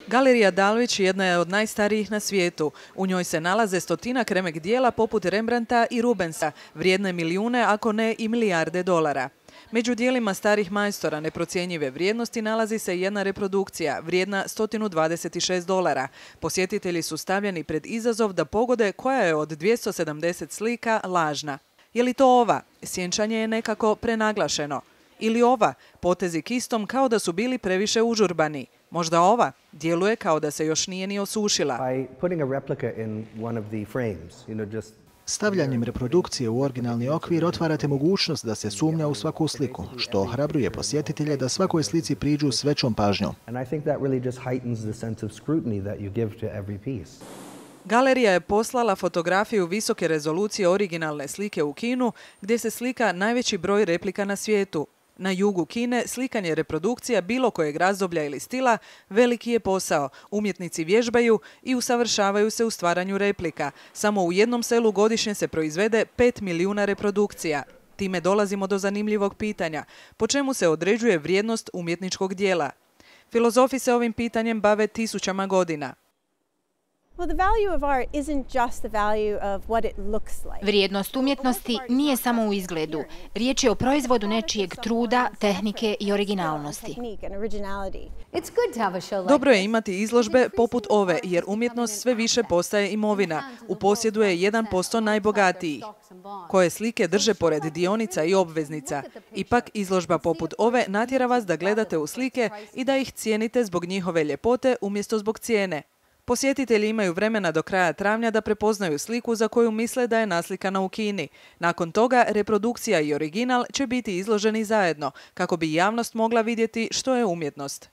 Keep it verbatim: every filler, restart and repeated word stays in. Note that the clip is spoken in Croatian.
Galerija Dalvić jedna je od najstarijih na svijetu. U njoj se nalaze stotinak remek dijela poput Rembrandta i Rubensa, vrijedne milijune, ako ne i milijarde dolara. Među dijelima starih majstora neprocjenjive vrijednosti nalazi se jedna reprodukcija, vrijedna sto dvadeset šest dolara. Posjetitelji su stavljeni pred izazov da pogode koja je od dvjesto sedamdeset slika lažna. Je li to ova? Sjenčanje je nekako prenaglašeno. Ili ova? Potezi kistom kao da su bili previše užurbani. Možda ova? Djeluje kao da se još nije ni osušila. Stavljanjem reprodukcije u originalni okvir otvarate mogućnost da se sumnja u svaku sliku, što ohrabruje posjetitelje da svakoj slici priđu s većom pažnjom. Galerija je poslala fotografiju visoke rezolucije originalne slike u Kinu, gdje se slika najveći broj replika na svijetu. Na jugu Kine slikanje reprodukcija bilo kojeg razdoblja ili stila veliki je posao. Umjetnici vježbaju i usavršavaju se u stvaranju replika. Samo u jednom selu godišnje se proizvede pet milijuna reprodukcija. Time dolazimo do zanimljivog pitanja. Po čemu se određuje vrijednost umjetničkog dijela? Filozofi se ovim pitanjem bave tisućama godina. Vrijednost umjetnosti nije samo u izgledu. Riječ je o proizvodu nečijeg truda, tehnike i originalnosti. Dobro je imati izložbe poput ove, jer umjetnost sve više postaje imovina. U posjedu je jedan posto najbogatijih, koje slike drže pored dionica i obveznica. Ipak, izložba poput ove natjera vas da gledate u slike i da ih cijenite zbog njihove ljepote umjesto zbog cijene. Posjetitelji imaju vremena do kraja travnja da prepoznaju sliku za koju misle da je naslikana u Kini. Nakon toga reprodukcija i original će biti izloženi zajedno, kako bi javnost mogla vidjeti što je umjetnost.